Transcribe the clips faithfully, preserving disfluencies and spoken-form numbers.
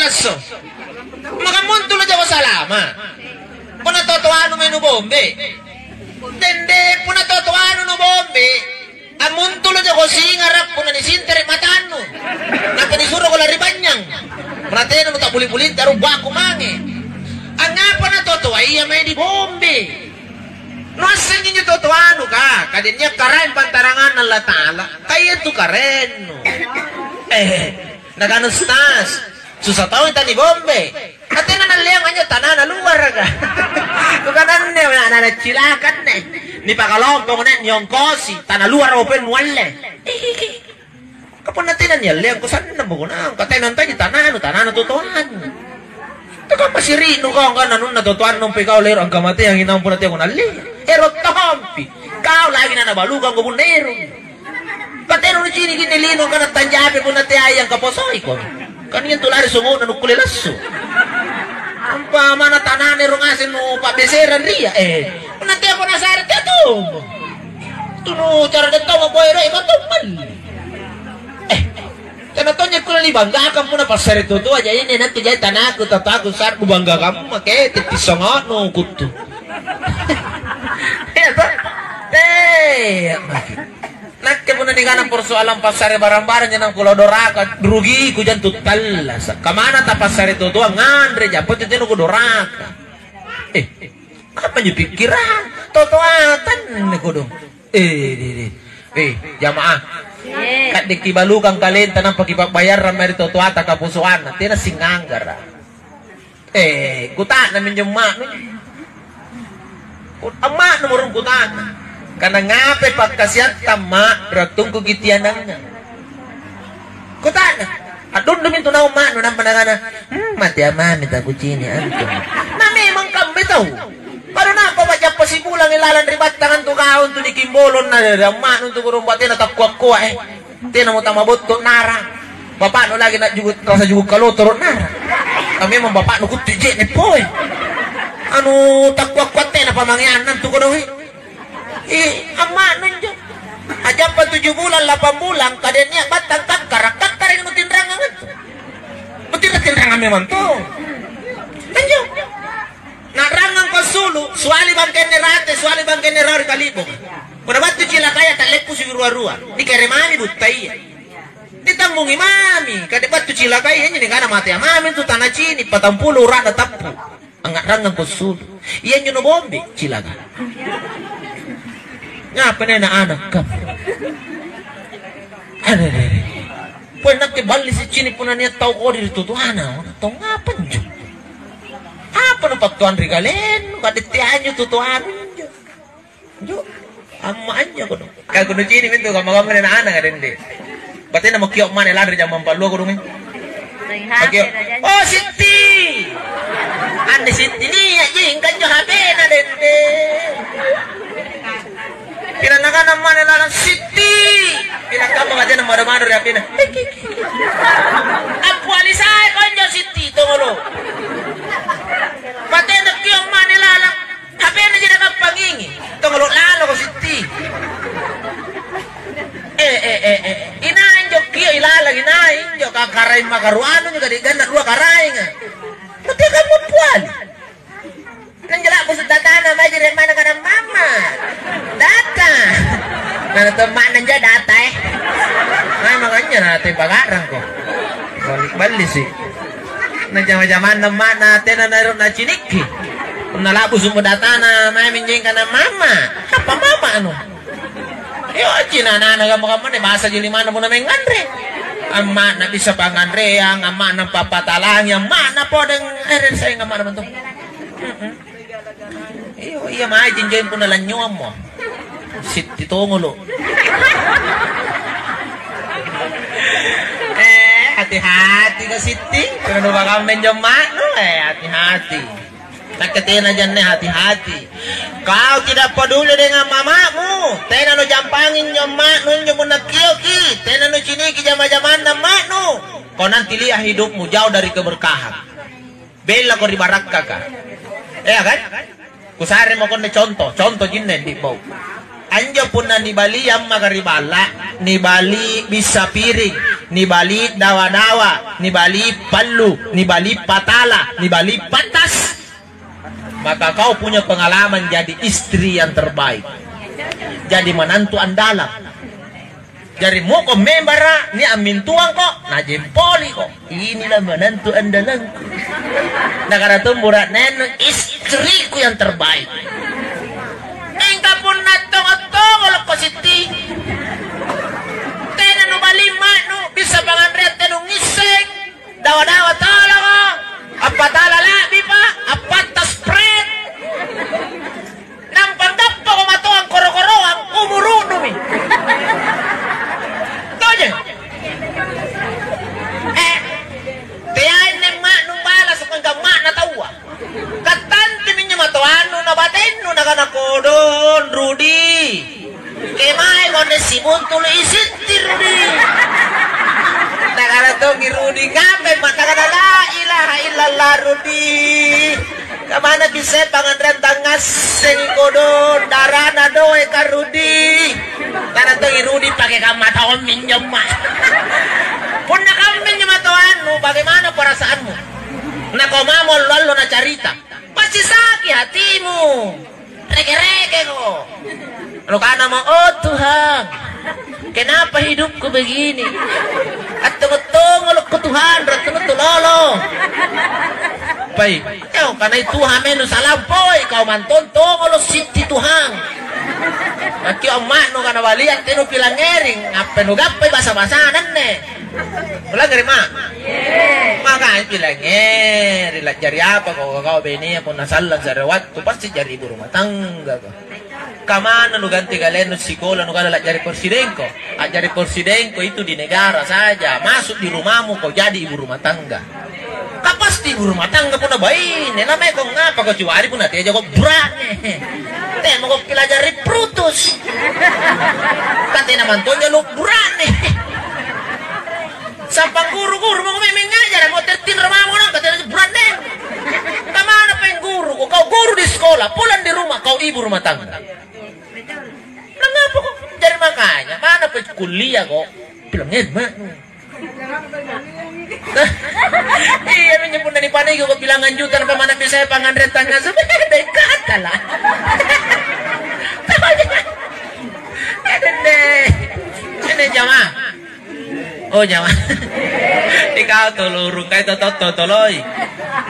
Esso. Maka muntulu jako salama. Punna totoanu mai nubombe. Tende punna totoanu nubombe. Ammuntulu jako singara punna nisintere matannu. Nampa nisuroko lari bannyang. Punna tena nutabbuli-bulinta rubbaku mange. Angngapa na totoa iya mae dibombe? Nuassengi njo totoanu ka, kadennia karaeng pantaranganna Allata'ala. Ka iya tu karaennu. Eh, nakana Ustaz, susah tau tani bombe. Katena nalleang anjo tanana luaraka. Kukananne ana-ana cilaka anne. Nipakalompong nek niongkosi, tana luar open nualle. Ka punna tena nialleang, kusannang bukunang, ka tena antaji tananu, tanana totoanu. Tekamma siri'nu kau angkana anunna totoannu mpe kau lero angkamateangi naung punna teako nalleang. Ero tompi. Kau lagi nanabalukang ko punna ero. Ka tena nucini' kinni lino angkana tanjape punna teai angkaposoiko. Kan iya tu lari songo'na nukkule lassu. Ampa mana tanana ero ngaseng nu pa'beserang ria, eh. Punna teako nasare teatommo. Tunu cara dettau maboya doe matong malli. Eh, tena tonja kulle nibanggakan punna passare totoa, jaji nakke jai tanaku, tataku sa'bu banggakamma ke tetti songo'nu kuttu. Iya toh? Eh, nakke punna nikana persoalan passare barang-barang janang kulo doraka, rugiku jantu tallasa. Kamana tapassare totoa nganre jampa tu tena kudoraka. Eh, apa njo pikkirang? Totoatan kodong. Eh, deh, deh. Eh, jamaah. Iya. Kadde kibalukang kalenta nampa kipabbayarrang mae ri totoata kaposoanna. Tena singanggara. Eh, kuta'nammi injo amma'nu. Ku-, amma'nu murung kuta'na. Kana ngapai pakkasiatta, Ma', rattungku kitianangnga? Kuta'na. A'dundumi intu naung amma'nu nampa nakana, "Hmm, mate amami takucini' antu." Na memang kambe tau. Baru nampa pa'jappa sibulang ilalang ri battang antu kau antu nikimbolong na ri amma'nu antu kodong batena takkua-kua, eh. Tenamo tamabotto nara. Bapa'nu lagi na juku-, rasa juku' kalotoro nara. Ka memang bapa'nu kuttu je'ne poe. Anu takkua-kua tena pamangeanna antu kodong, eh. Ih, amma'nu injo. A'jappa tuju bulang, lapang bulang, kadennia battang kakkara, kakkara nutinrangang antu. Nutinrang-tinrangang memang to. Anjo. Na'rangangko assulu', suali bangkenna rate, suali bangkenna rawa ri kali'bong. Punna battu cilakaya, ta'leppusi rua-rua. Nikeremami buttaya. Nitambungi mami, kade battu cilakaya, injo nikana matea mami antu tanacini', patampulo ura'na tappu. Angnga'rangangko assulu'. Iyanjo nubombe, cilaka. Ngapa nia ana'-ana' kam? Arerere. Pole nakke balli siccini' punna nia' tau kodi ri totoana. Tau ngapa anjo? Apa nupattuanri kalennu? Kade tea anjo totoanu injo. Anjo, amma anjo kono. Ka kunucini' mintu kamma-kamma ri ana'-ana' ka dende. Batena mo kio' mane lanri jammang pallua kodong, eh. Ring Makio'. H P na janji. "Oh, Sitti!" Anne Sitti nia' ji, engka anjo H P-na dende. Pila nakana mane lalang, "Sitti!" Pila kamma batena mado-mado ri H P-na. Appiali sai konjo Sitti, tongolo. Batena kio' mane lalang. H P-na ji nakappangingi. Tongolo laloko Sitti. Eh, eh, eh, eh. Inai injo kio' ilalang, inai injo kakaraeng makaruanu injo kadi ganna' rua karaenga. Tapi kamu puali. Nanjala busu datana mae jere mana kana mama. Data. Nana to mana njo data, eh. Nah, makanya na tempa garang ko. Balik-balik sih. Na jama-jamanna amma'na tena naero' nacinikki. Punna labu sumbu datana mae minjeng kana mama. Apa mama anu? Iyo, cinanana kamma-kamma ne basa ji limanna punna menganre. Amma'na bisa panganreang, amma'na pappatalangi, amma'na podeng ere sayang amma'na bentuk. Mm-mm. Iyo, iya mae jinjeng punna lanynyuammo. Sitti tongolo. Eh, hati-hati ka Sitti. Punna nupakamma injo amma'nu, eh, hati-hati. Nakke tena janne hati-hati. Kau tidak peduli dengan mamamu. Tena nujampangi injo amma'nu injo punna kioki. Tena nuciniki jama-jamanna amma'nu. Kau nanti lihat hidupmu jauh dari keberkahan. Bellako ri barakkaka. Iya kan? Kusaremo konne contoh, contoh jinne di bau. Anjo punna nibali ammaka ri balla, nibali bissa piring. nibali dawa-dawa, nibali pallu, nibali patala, nibali patas. Maka kau punya pengalaman jadi istri yang terbaik. Jadi menantu andalang. Jari muko membara, ni ammintuangko, najempoliko. Inilah menantu andalangku. Nakana tu bura'nenu, istriku yang terbaik. Mingka punna tongo-tongolokko sitti, tena nubali ma'nu, bisa panganreang tena nungisseng. Dawa-dawa toloko, appatala la'bipa, appatta spret. Nampa gappako matoang koro-koroang, umuru'numi. Tojeng. Eh, teai nemma'nu bala sukangka ma'na taua. Kattantu minjo matoannu na batennu nakana, "Kodong, Rudi. Kemae konne sibuntulu isitti, Rudi." Nakana tongi Rudi, "Ngapai ma nakana la ilaha illallah, Rudi? Kamana bisa panganreang tangngassengi kodong, darana doeka, Rudi?" Nakana tongi Rudi, "Pake kamma taummi injo, Ma." Punna kamminjo matoannu, bagaimana perasaanmu? Nakau mamo allo-allo nacarita. Pasti saki hatimu. Reke-rekeko. Nukanamo, "Oh Tuhan, kenapa hidupku begini? Attongo-tongolokko Tuhan, rattunuttu lolo." Pai, "Kau kanai Tuhan menu salampoi, kau mantong tongolo sitti Tuhan. Nakio amma'nu kana baliang tenu pilangngering, appenu gappai basa-basa nanne." Ulangngeri, Ma? Makanya pilangngeri, la'jari apa kau, kau benea punna sallang se're wattu, pasti jari ibu rumah tangga kau. Kamana nuganti kalennu sikola, nukana la'jari persidengko? A'jari persidengko itu di negara saja, masuk di rumahmu kau jadi ibu rumah tangga. Ka pasti ibu rumah tangga punna baine, namanya kau ngapa kau cuari punna teja kau burane. Temo kau pilajari Brutus. Katena mantonja lu burane. Sampang guru-guru mako memeng ngajara, mo tertinro mamo nang katena buranneng. Kamana peng guru ko? Kau guru di sekolah, pulang di rumah kau ibu rumah tangga. Mangapa kok? Jadi makanya mana pe kuliah kok? Bilang, "Eh, Mak." Iya, minjo punna nipaniki kok bilangan juta, nampa mana bisa panganre tangnga sebedai kata lah. Dende. Ini jamaah. Oh, jama. Ikau tolorung kai toto toloi.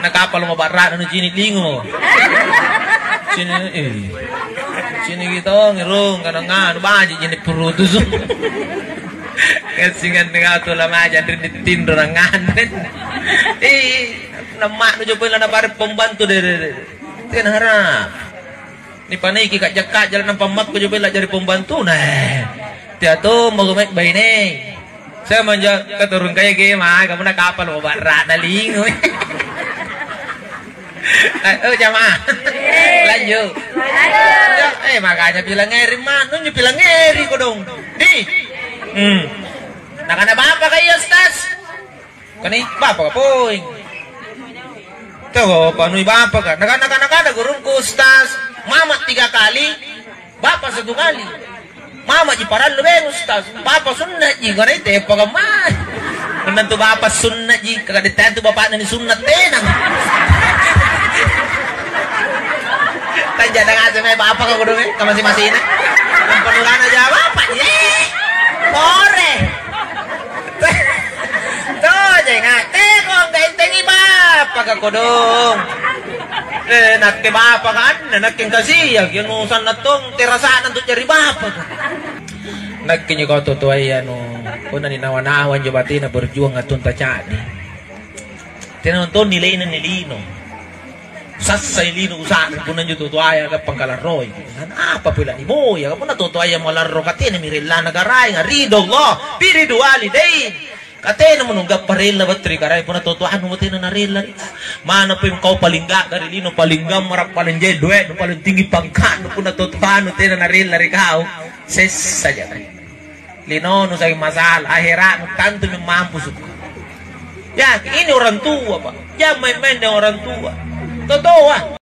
Nakapalo mabarra'na nucini' lingo. Cini, eh. Cini kita ngirung kana nganu baji cini purutus. Kasingan dengan tu lama aja rin ditinro nangan. Eh, nama'nu coba lana bare pembantu deh, deh, deh. Tena harap. Nipaniki ka'ja-ka'ja nampa makku coba la'jari pembantuna. Eh, tea tommo mae baine. Saya manja katurung kaya ke ma, kamu na kapal mau barra na lingu. Eh, oh, jamaah. Lanjut. Ya, eh, makanya bilang ngeri ma, nunju bilang ngeri kodong. Di. Hmm. Nakana bapa kaya, Ustaz. Kani bapa ka poeng. Tuh, panui bapa ka. Nakana, nakana, nakana gurungku, Ustaz, mama tiga kali, bapa satu kali. Mama ji parallu beng, Ustaz. Bapa sunna ji, kani tepa ka mai. Menantu bapa sunna ji, kaka detang tu bapakna ni sunna tenang. Tanja dang aja mai bapa ka kudu mai, kamasi-masina. Nampa nurana ja bapa ji. Eh, more. Tojenga, teko anggaentengi bapaka kodong. Eh, nakke bapaka anne, nakke engkasia, kianu sanna tong, terasana tu jari bapaka. Nakke njo kau totoaya anu, punna ninawa-nawa njo batena berjuang attunta ca'di. Tena nonton nilaina ni lino. Sassai lino usa'ring punna anjo tutoaya gappang kalarroi. Apa pole niboya, punna tutoaya malarro katena mi rellana karaenga, ridho Allah, biridu walidain. Katena mo nunggappa rella battu ri karaeng punna tutoanu mo tena narella ri. Mana pun kau paling gaga ri lino, paling gammara, paling jai doe'nu, paling tinggi pangkatnu, punna tutoanu tena narella ri kau. Sessa jaki. Linonu saking masalah, ahera'nu tantumi mampusu. Ya, ini orang tua, Pak. Jangan main-main dengan orang tua. Totoa.